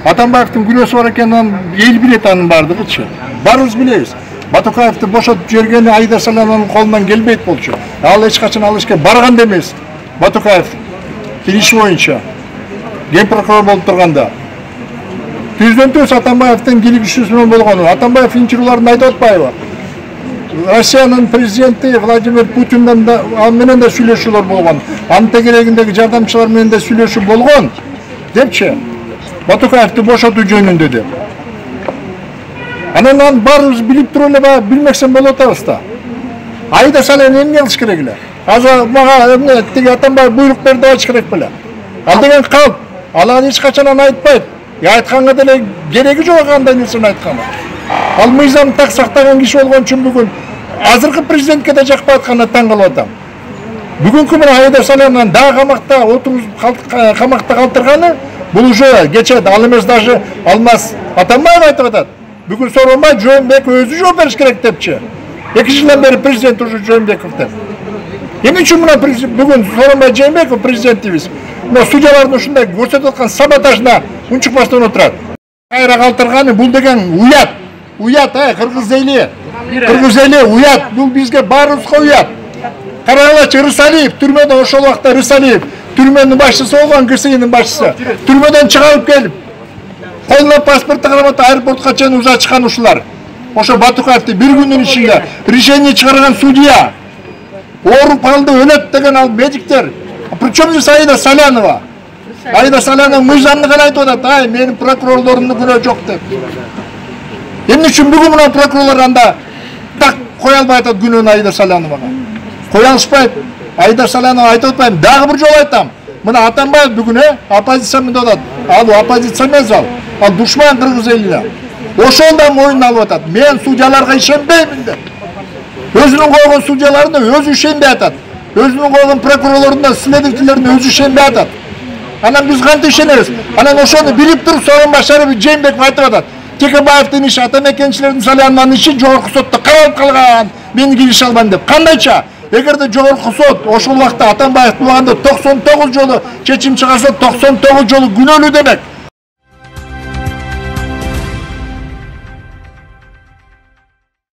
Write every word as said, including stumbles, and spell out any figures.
Атамбаевдин күнөөсү бар экенин эл билет, анын бардыгычы. Баарыбыз билебиз. Батукаевди бошотуп жибергени Аида Салянованын колунан келбейт болчу. Ал эч качан ал ишке барган да эмес. Батукаев иш боюнча ген прокурор болуп турганда. Түздөн түз Атамбаевдин кийлигишүүсү менен болгону. Атамбаев инчирүүлөрүн айтып атпайбы? Россиянын президенти Владимир Путинден да ал менен да сүйлөшүүлөр болгон. Анын тегерегиндеги жардамчылар менен да сүйлөшүү болгон депчи. Батукаевди бошотуу жөнүндө деп. Анан аны баарыбыз билип туруп эле билмесем болуп атабыз да. Аида Салянова эмне кылыш керек эле? Азыр мага эмне тиги Атамбаев буйрук берди деп айтыш керек беле? Ал деген калп. Ал аны эч качан айтпайт. Я айтканга деле кереги жок андай нерсени айтканы. Ал мыйзам так сактаган киши болгон үчүн бүгүн азыркы президентке да жакпай атканына таң калып атам. Бүгүнкү мына Аида Салянованын дагы камакта отуруп камакта калтырганы бул уже кечет. Ал эмес даже Алмаз Атамбаев айтып атат. Бүгүн Сооронбай Жээнбеков өзү жооп бериш керек депчи. эки жылдан бери президент уже Жээнбеков деп. Эмне үчүн мына бүгүн Сооронбай Жээнбеков президентибиз мына судьялардын ушундай көрсөтүп аткан саботажына унчукпастан отурат. Кайра калтырганы бул деген уят. Уят, э, кыргыз эли. Кыргыз эли уят. Бул бизге баарыбызга уят. Карагылачы Рысалиев түрмөдө ошол убакта Рысалиев түрмөнүн башчысы болгон, КСИнин башчысы. Түрмөдөн чыгарып келип колуна паспортту карап аэропортко чейин узатышкан ушулар. Ошо Батукаевди бир күндүн ичинде решение чыгарган судья ооруп калды, өлөт деген ал медиктер. Причем здесь Аида Салянова? Аида Салянова мыйзамды гана айтып атат. Ай, менин прокурорлорумдун күнөө жок деп. Эмне үчүн бүгүн мына прокурорлор анда так кое албай атат күнөөнү Аида Саляновага? Кое алышпайт. Аида Салянова айтып атпайм. Дагы бир жолу айтам. Мына Атамбаев бүгүн э оппозиция деп атат. Ал оппозиция эмес ал. Ал душман кыргыз элине. Ошол да моюнуна алып атат. Мен судьяларга ишенбеймин деп. Өзүнүн койгон судьяларына өзү ишенбей атат. Өзүнүн койгон прокурорлоруна, следователлерине өзү ишенбей атат. Анан биз кантип ишенебиз? Анан ошону билип туруп Сооронбай Жээнбеков айтып атат. Текебаевдин иши, Атамекенчилердин Салянованын иши жогорку сотто каралып калган. Мен киреше албайм деп. Кандайча? Эгерде жогорку сот ошол убакта Атамбаев туганда токсон тогуз жолу чечим чыгарса, токсон тогуз жолу күнөөлүү демек.